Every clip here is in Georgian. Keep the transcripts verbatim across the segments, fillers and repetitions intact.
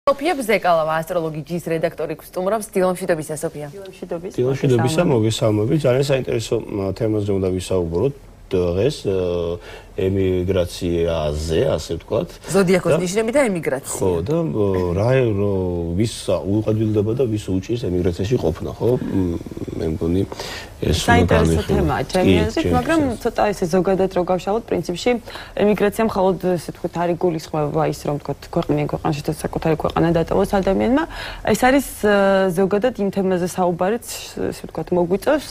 Sofia Bzekala, astrologიის რედაქტორი გსტუმრობს დილომშვიდობისა Sofia. დილომშვიდობისა. დილომშვიდობისა, მოგესალმებით. ძალიან საინტერესო თემაზე უნდა ვისაუბროთ დღეს ემიგრაციაზე, ასე ვთქვათ. ზოდიაქოს ნიშნები და ემიგრაცია. ხო, და რა ვის უყადვილდება და ვის უჭირს ემიგრაციაში ყოფნა, ხო? მე მგონი ეს საინტერესო თემაა ჩემი აზრით, მაგრამ ცოტა ესე ზოგადად რო გავშალოთ, პრინციპში ემიგრაცია მხოლოდ ესე ვთქვათ არის გულისხმობა ის რომ ვთქვათ ქვეყნიდან ქვეყანაში და საკუთარი ქვეყანა დატოვოს ადამიანმა. ეს არის ზოგადად იმ თემაზე საუბარიც, ესე ვთქვათ, მოგვიწევს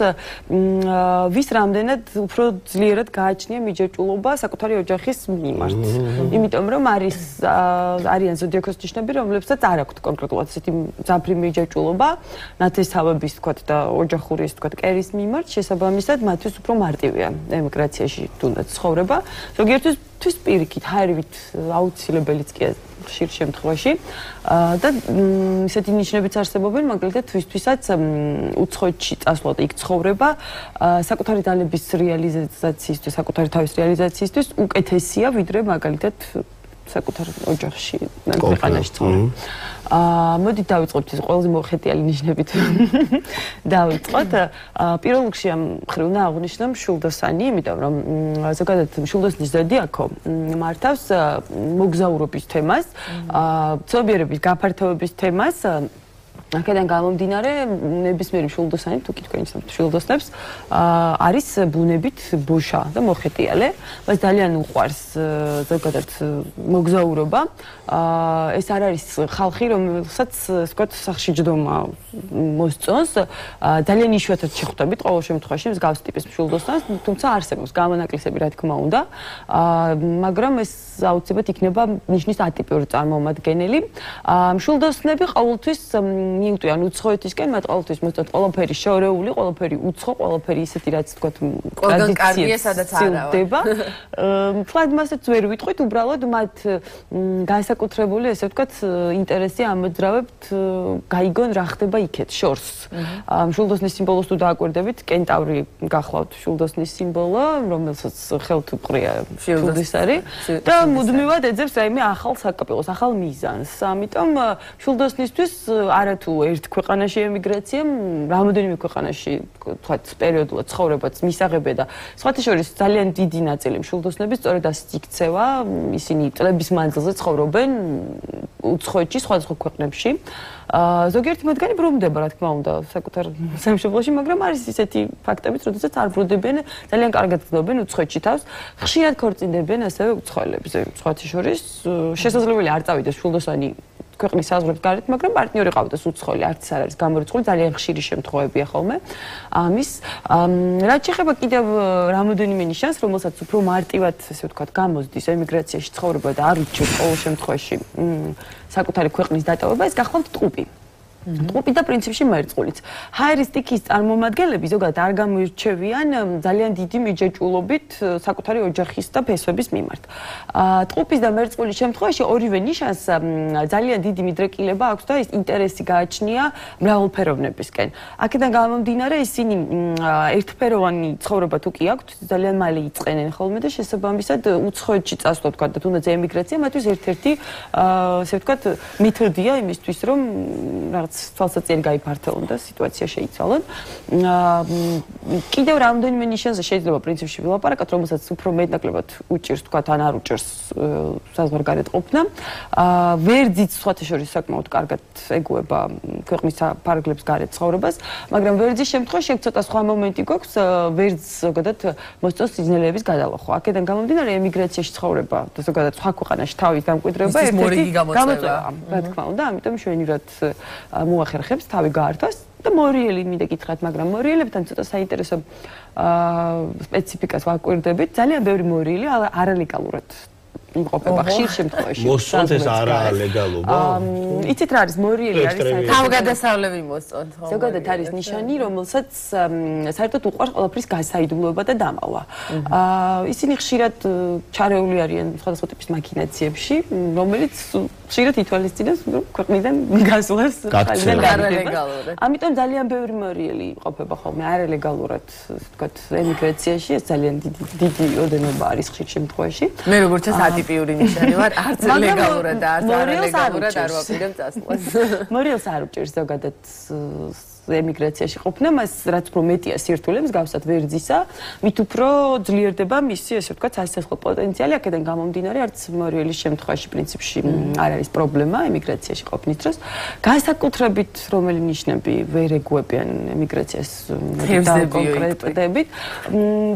ვის რამდენად უფრო ძლიერად გააჩნია მიჯაჭვულობა საკუთარი ოჯახის მიმართ. იმიტომ რომ არის არიან ზოდიაქოს ნიშნები, რომლებსაც არ აქვთ კონკრეტულად ესეთი მძაფრი მიჯაჭვულობა, ნათესავების ვთქვათ და ოჯახური ეს ვთქვათ კერის მიმართ, შესაბამისად მათთვის უფრო მარტივია ემიგრაციაში თუნდაც ცხოვრება. ზოგიერთთვის პირიქით, ჰაერივით აუცილებელიც კი ხშირ შემთხვევაში და ისეთი ნიშნებიც არსებობენ, მაგალითად თვისთვისაც უცხოეთში წასვლა და იქ ცხოვრება საკუთარი ძალების რეალიზაციისთვის, საკუთარი თავის რეალიზაციისთვის უკეთესია, ვიდრე მაგალითად საკუთარ ოჯახში, ქვეყანაში ცხოვრება. აა მოდით დავიწყოთ ეს ყველაზე მოხეტიალი ნიშნებით. დავიწყოთ. პირველ რიგში ამ მხრივ უნდა აღვნიშნო მშვილდოსანი, იმიტომ რომ ზოგადად მშვილდოსნის ზოდიაქო მართავს მოგზაურობის თემას, აა ცნობიერების გაფართოების თემას. აქედან გამომდინარე ნებისმიერი მშვილდოსანი თუ კი თქვენ იცნობთ მშვილდოსნებს არის ბუნებით ბოშა და მოხეტიალე. მას ძალიან უყვარს ზოგადად მოგზაურობა. ეს არ არის ხალხი, რომელსაც ვთქვათ სახში ჯდომა მოსწონს. ძალიან იშვიათად შეხვდებით ყოველ შემთხვევაში მსგავს ტიპის მშვილდოსნას, თუმცა არსებობს გამონაკლისები, რა თქმა უნდა. მაგრამ ეს აუცილებლად იქნება ნიშნის ატიპიური წარმომადგენელი. მშვილდოსნები ყოველთვის მიუტვიან უცხოეთისკენ, მათ ყოველთვის მოსწონთ ყველაფერი შორეული, ყველაფერი უცხო, ყველაფერი ისეთი რაც თქვათ ტრადიციებს სადაც არაა. თლად მასაც ვერ ვიტყვით, უბრალოდ მათ განსაკუთრებული ესე ვთქვათ ინტერესი ამოძრავებთ გაიგონ რა ხდება იქეთ შორს. მშვილდოსნის სიმბოლოს თუ დააკვირდებით, კენტავრი გახლავთ მშვილდოსნის სიმბოლო, რომელსაც ხელთ უყრია მშვილდოსარი და მუდმივად ეძებს რაიმე ახალ საკაპელოს, ახალ მიზანს. ამიტომ მშვილდოსნისთვის არათუ ერთ ქვეყანაში ემიგრაცია, რამოდენიმე ქვეყანაში თქვათ პერიოდულად ცხოვრებაც მისაღებია და სხვათა შორის ძალიან დიდი ნაწილი მშვილდოსნების სწორედ ასეთ იქცევა, ისინი წლების მანძილზე ცხოვრობენ უცხოეთში, სხვადასხვა ქვეყნებში. ზოგიერთი მათგანი ბრუნდება, რა თქმა უნდა, საკუთარ სამშობლოში, მაგრამ არის ისეთი ფაქტებიც, როდესაც არ ბრუნდებიან, ძალიან კარგად გრძნობენ უცხოეთში თავს, ხშირად ქორწინდებიან ასევე უცხოელებზე. სხვათა შორის შესაძლებელი არ წავიდეს მშვილდოსანი ქვეყნის საზღვრებს გარეთ, მაგრამ პარტნიორი ყავდეს უცხოელი, არც არ არის გამორიცხული, ძალიან ხშირი შემთხვევებია ხოლმე. ამის რაც შეეხება კიდევ რამოდენიმე ნიშანს, რომელსაც უფრო მარტივად, ესე ვთქვათ, გამოსდის ემიგრაციაში ცხოვრება და არ უჩვენს ყოველ შემთხვევაში საკუთარი ქვეყნის დატოვება, ეს გახლავთ ტყუპი. ტყუპი და პრინციპში მერწყულიც. ჰაერის სტიქის წარმომადგენლები ზოგადად არ გამოირჩევიან ძალიან დიდი მიჯაჭვულობით საკუთარი ოჯახის და ფესვების მიმართ. ტყუპის და მერწყულის შემთხვევაში ორივე ნიშანს ძალიან დიდი მიდრეკილება აქვს და ის ინტერესი გააჩნია მრავალფეროვნებისკენ. აქედან გამომდინარე ისინი ერთფეროვანი ცხოვრება თუ კი აქვთ, ძალიან მალე იწყენენ ხოლმე და შესაბამისად უცხოეთში წასვლა თქვა და თუნდაც ემიგრაცია მათთვის ერთ-ერთი ასე ვთქვათ მეთოდია იმისთვის რომ რაღაც თვალსაჩინო გაიფართოვონ და სიტუაცია შეიცვალონ. კიდევ რამდენიმე ნიშანზე შეიძლება პრინციპში ვილაპარაკოთ, რომელსაც უფრო მეტნაკლებად უჭირს თქვათ ან არ უჭირს საზღვარგარეთ ყოფნა. ვერძიც სხვათა შორის საკმაოდ კარგად ეგუება ქვეყნის ფარგლებს გარეთ ცხოვრებას, მაგრამ ვერძის შემთხვევაში ეგ ცოტა სხვა მომენტი გვაქვს, ვერძს ზოგადად მოსწონს სიძნელეების გადალახვა. აქედან გამომდინარე ემიგრაციაში ცხოვრება და ზოგადად სხვა ქვეყანაში თავის გამკვიდრება ერთ-ერთი გამოწვევა. რა თქმა უნდა, ამიტომ შვენივრად მოახერხებს თავი გაართვას და მორიელი მინდა გითხრათ, მაგრამ მორიელებთან ცოტა საინტერესო სპეციფიკას ვაკვირდებით. ძალიან ბევრი მორიელი არალეგალურად იმყოფება ხშირ შემთხვევაში. მოსწონთ ეს არალეგალობა? იცით რა არის მორიელი არის თავგადასავლები მოსწონთ. ზოგადად არის ნიშანი, რომელსაც საერთოდ უყვარს ყველაფრის გასაიდუმლოება და დამალვა. ისინი ხშირად ჩარეული არიან სხვადასხვა ტიპის მაქინაციებში, რომელიც ხშირად ითვალისწინებს, რომ ქვეყნიდან გასვლას გაქცევა. არალეგალურად. ამიტომ ძალიან ბევრი მორიელი ყოფება ხოლმე არალეგალურად, ვთქვათ, ემიგრაციაში, ეს ძალიან დიდი დიდი ოდენობა არის ხშირ შემთხვევაში. მე როგორც ეს ატიპიური ნიშანი ვარ, არც ლეგალურად და არც არალეგალურად არ ვაპირებ წასვლას. მორიელს არ უჭირს ზოგადად ემიგრაციაში ყოფნა, მას რაც უფრო მეტია სირთულე, მსგავსად ვერძისა, მით უფრო ძლიერდება მისი, ესე ვთქვათ, სასახლე პოტენციალი, აქედან გამომდინარე, არც მორიელის შემთხვევაში პრინციპში არ არის პრობლემა ემიგრაციაში ყოფნის დროს. განსაკუთრებით რომელი ნიშნები ვერ ეგუებიან ემიგრაციას კონკრეტებით,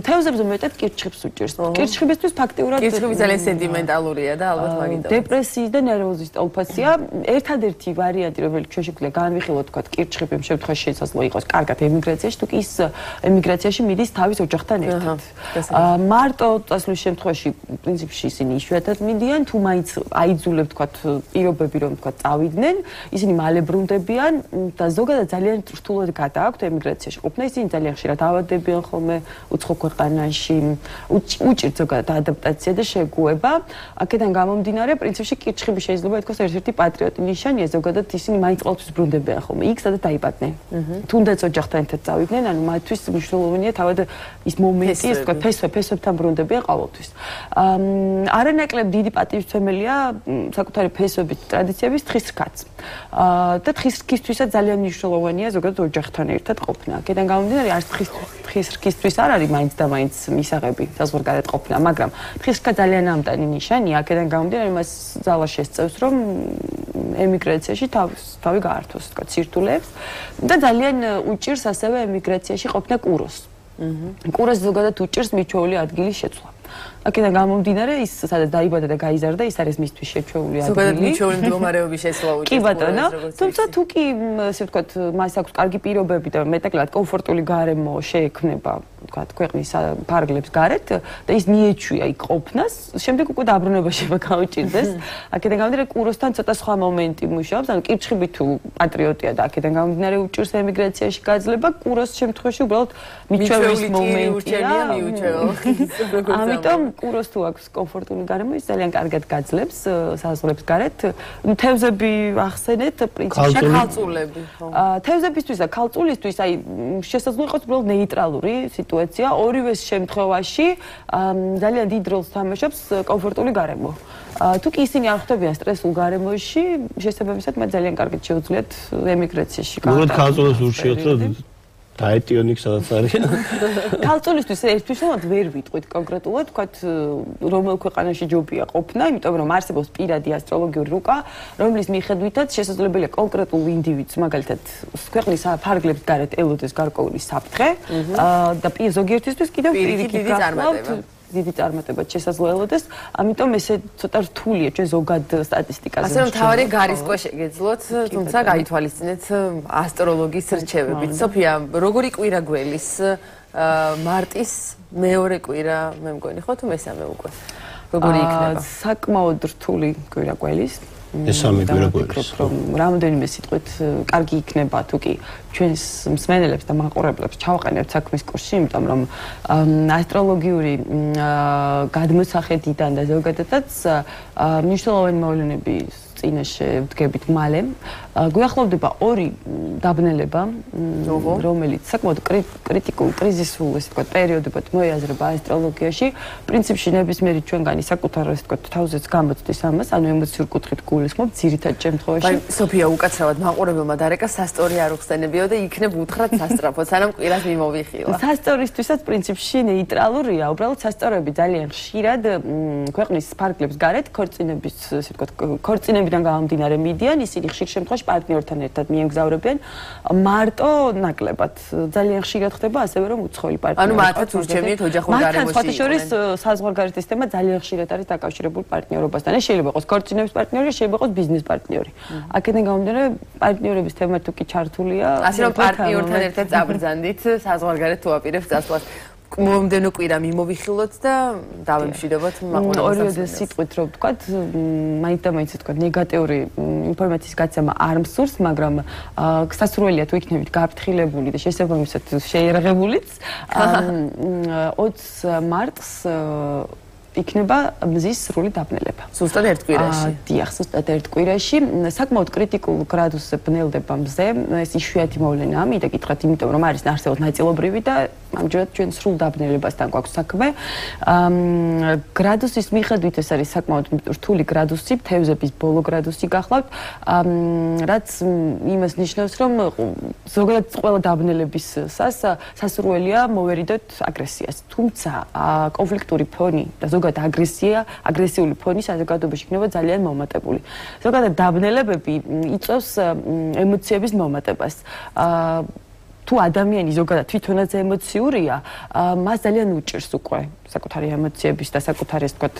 თევზებზე მეტად კირჩხიბს უჭირს. კირჩხიბისთვის ფაქტიურად კირჩხიბი ძალიან სენტიმენტალურია და ალბათ მაგით. დეპრესიის და ნერვოზის ტოლფასია ერთადერთი ვარიანტი, რომელიც ჩვენ შეგვიძლია განვიხილოთ, თქვათ, კირჩხიბი იმ შემთხვევაში შესაძლოა იყოს კარგად ემიგრაციაში, თუ კი ის ემიგრაციაში მიდის თავის ოჯახთან ერთად. მარტო წასვლის შემთხვევაში პრინციპში ისინი იშვიათად მიდიან, თუ მაინც აიძულებ, თქვათ, პირობები, რომ თქვათ, წავიდნენ, ისინი მალე ბრუნდებიან და ზოგადად ძალიან რთულად გადააქვთ ემიგრაციაში ყოფნა, ისინი ძალიან ხშირად ავადდებიან ხოლმე უცხო ქვეყანაში, უჭირთ ზოგადად ადაპტაცია და შეგუება. აქედან გამომდინარე, პრინციპში კირჩხიბი შეიძლება ითქვას ერთ-ერთი პატრიოტი ნიშანია, ზოგადად ისინი მაინც ყოველთვის ბრუნდებიან ხოლმე იქ, სადაც დაიბადნენ. თუნდაც ოჯახთან ერთად წავიდნენ, ანუ მათთვის მნიშვნელოვანია თავად ის მომენტი, ეს თქვა ფესვე, ფესვებთან ბრუნდებიან ყოველთვის. არანაკლებ დიდი პატივისცემელია საკუთარი ფესვებით ტრადიციების თხის რქაც. და თხის რქისთვისაც ძალიან მნიშვნელოვანია ზოგადად ოჯახთან ერთად ყოფნა. აქედან გამომდინარე, არც თხის რქისთვის არ არის მაინც და მაინც მისაღები საზღვარგარეთ ყოფნა, მაგრამ თხის რქა ძალიან ამტანი ნიშანია. აქედან გამომდინარე, მას ძალა შესწევს, რომ ემიგრაციაში თავი გაართოს, თქვა, სირთულეებს და ძალიან უჭირს ასევე ემიგრაციაში ყოფნა კუროს. კუროს ზოგადად უჭირს მიჩვეული ადგილის შეცვლა. აქედან გამომდინარე, ის სადაც დაიბადა და გაიზარდა, ის არის მისთვის შეჩვეული ადგილი. ზოგადად მიჩვეული მდგომარეობის შეცვლა უჭირს. კი ბატონო, თუმცა თუ კი ასე ვთქვათ, მას აქვს კარგი პირობები და მეტაკლად კომფორტული გარემო შეექმნება, ვთქვათ, ქვეყნის ფარგლებს გარეთ და ის მიეჩვია იქ ყოფნას, შემდეგ უკვე დაბრუნება შეიძლება გაუჭირდეს. აქედან გამომდინარე, კუროსთან ცოტა სხვა მომენტი მუშაობს, ანუ კირჩხიბი თუ პატრიოტია და აქედან გამომდინარე უჭირს ემიგრაციაში გაძლება, კუროს შემთხვევაში უბრალოდ მიჩვევის მომენტია. ამიტომ კუროს თუ აქვს კომფორტული გარემო, ის ძალიან კარგად გაძლებს საზღვრებს გარეთ. თევზები ახსენეთ, პრინციპში ქალწულები. თევზებისთვის და ქალწულისთვის, აი, შესაძლოა იყოს უბრალოდ ნეიტრალური სიტუაცია. ორივეს შემთხვევაში ძალიან დიდ როლს თამაშობს კომფორტული გარემო. თუ კი ისინი არ ხვდებიან სტრესულ გარემოში, შესაბამისად, მათ ძალიან კარგად შეუძლიათ ემიგრაციაში გაატარონ. უბრალოდ ქალწულებს ურჩიოთ, რომ დაეტიონიქ სადაც არის. ქალწულისთვის ერთგვარად ვერ ვიტყვით კონკრეტულად, თქვათ, რომელ ქვეყანაში ჯობია ყოფნა, იმიტომ რომ არსებობს პირადი ასტროლოგიური რუკა, რომლის მიხედვითაც შესაძლებელია კონკრეტულ ინდივიდს, მაგალითად, ქვეყნის ფარგლებს გარეთ ელოდეს გარკვეული საფრთხე და ზოგიერთისთვის კიდევ პირიქით გახლავთ დიდი წარმატება შესაძლოელოდეს, ამიტომ ესე ცოტა რთულია ჩვენ ზოგად სტატისტიკაზე. ასე რომ თავარი გარისკვა შეგეძლოთ, თუმცა გაითვალისწინეთ ასტროლოგის რჩევებით. სოფია, როგორი კვირა გველის? მარტის მეორე კვირა, მე მგონი ხო თუ მესამე უკვე? როგორი იქნება? საკმაოდ რთული კვირა გველის. მესამე კვირა გველის. რამდენიმე სიტყვით კარგი იქნება თუ კი ჩვენს მსმენელებს და მაყურებლებს ჩავყენებთ საქმის კურსში, იმიტომ რომ ასტროლოგიური გადმოსახედიდან და ზოგადადაც მნიშვნელოვანი მოვლენები წინაშე ვდგებით მალე. გვიახლოვდება ორი დაბნელება, რომელიც საკმაოდ კრიტიკულ, კრიზისულ, ესე ვთქვათ, პერიოდებად მოიაზრება ასტროლოგიაში. პრინციპში ნებისმიერი ჩვენგანი საკუთარ, ესე ვთქვათ, თავზეც გამოცდის ამას, ანუ ემოციური კუთხით გულისხმობ ძირითად შემთხვევაში. აი, სოფია, უკაცრავად მაყურებელმა დარეკა სასტორი არ უხსენებიო და იქნებ უთხრათ სასტრაფო, სანამ კვირას მიმოვიხილა. სასტორისთვისაც პრინციპში ნეიტრალურია, უბრალოდ სასტორები ძალიან ხშირად ქვეყნის ფარგლებს გარეთ ქორწინების, ესე ვთქვათ, ქორწინებიდან გამომდინარე მიდიან, ისინი ხშირ შემთხვევაში პარტნიორთან ერთად მიემგზავრებიან მარტო ნაკლებად. ძალიან ხშირად ხდება ასევე რომ უცხოელი პარტნიორი. ანუ მათაც ურჩევიათ ოჯახურ გარემოში. მათთან სხვათა შორის საზღვარგარეთის თემა ძალიან ხშირად არის დაკავშირებული პარტნიორობასთან. ეს შეიძლება იყოს ქორწინების პარტნიორი, შეიძლება იყოს ბიზნეს პარტნიორი. აქედან გამომდინარე პარტნიორების თემა თუ კი ჩართულია, ასე რომ პარტნიორთან ერთად წაბრძანდით საზღვარგარეთ თუ აპირებს წასვლას. მომდენო კვირა მიმოვიხილოთ და დავემშვიდობოთ მაყურებელს. ორივე სიტყვით რომ ვთქვათ, მაინც და მაინც ვთქვათ, ნეგატიური ინფორმაციის გაცემა არ მსურს, მაგრამ გასასურველია თუ იქნებით გაფრთხილებული და შესაბამისად შეიარაღებულიც. ოცი მარტს იქნება მზის სრული დაბნელება. ზუსტად ერთ კვირაში. დიახ, ზუსტად ერთ კვირაში. საკმაოდ კრიტიკულ გრადუსზე ბნელდება მზე. ეს იშვიათი მოვლენაა, მინდა გითხრათ, იმიტომ რომ არის არსებობ ნაწილობრივი და ამჯერად ჩვენ სრულ დაბნელებასთან გვაქვს საქმე. გრადუსის მიხედვით ეს არის საკმაოდ რთული გრადუსი, თევზების ბოლო გრადუსი გახლავთ, რაც იმას ნიშნავს, რომ ზოგადად ყველა დაბნელების სასურველია მოვერიდოთ აგრესიას. თუმცა კონფლიქტური ფონი და ზოგადად აგრესია, აგრესიული ფონი საზოგადოებაში იქნება ძალიან მომატებული. ზოგადად დაბნელებები იწვევს ემოციების მომატებას. თუ ადამიანი ზოგადად თვითონაც ემოციურია, მას ძალიან უჭირს უკვე საკუთარი ემოციების და საკუთარი ასე ვთქვათ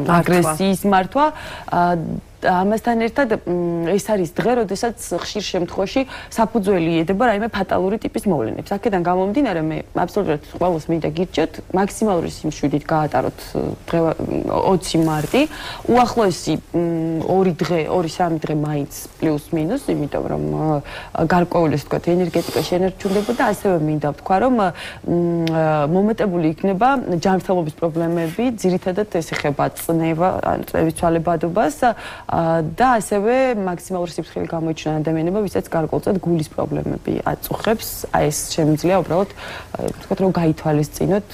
აგრესიის მართვა. ამასთან ერთად ეს არის დღე, როდესაც ხშირ შემთხვევაში საფუძველი ედება რაიმე ფატალური ტიპის მოვლენებს. აქედან გამომდინარე, მე აბსოლუტურად ყველას მინდა გირჩიოთ, მაქსიმალური სიმშვიდით გაატაროთ ოცი მარტი. უახლოესი ორი დღე, ორი სამი დღე მაინც პლუს მინუს, იმიტომ რომ გარკვეული ასე ვთქვათ ენერგეტიკა შენარჩუნდება, ასევე მინდა ვთქვა, რომ მომატებული იქნება ჯანმრთელობის პრობლემები, ძირითადად ეს ეხება წნევა, წნევის ცვალებადობას და ასევე მაქსიმალური სიფრთხილე გამოიჩინა ადამიანებმა, ვისაც გარკვეულწილად გულის პრობლემები აწუხებს. აი ეს შემიძლია უბრალოდ ვთქვათ, რომ გაითვალისწინოთ,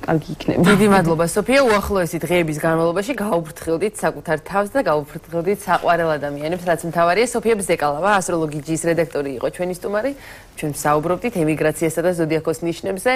კარგი იქნება. დიდი მადლობა, სოფია. უახლოესი დღეების განმავლობაში გაუფრთხილდით საკუთარ თავს და გაუფრთხილდით საყვარელ ადამიანებს, რაც მთავარია. სოფია ბზეკალავა, ასტროლოგიის რედაქტორი იყო ჩვენი სტუმარი. ჩვენ საუბრობდით ემიგრაციასა და ზოდიაქოს ნიშნებზე.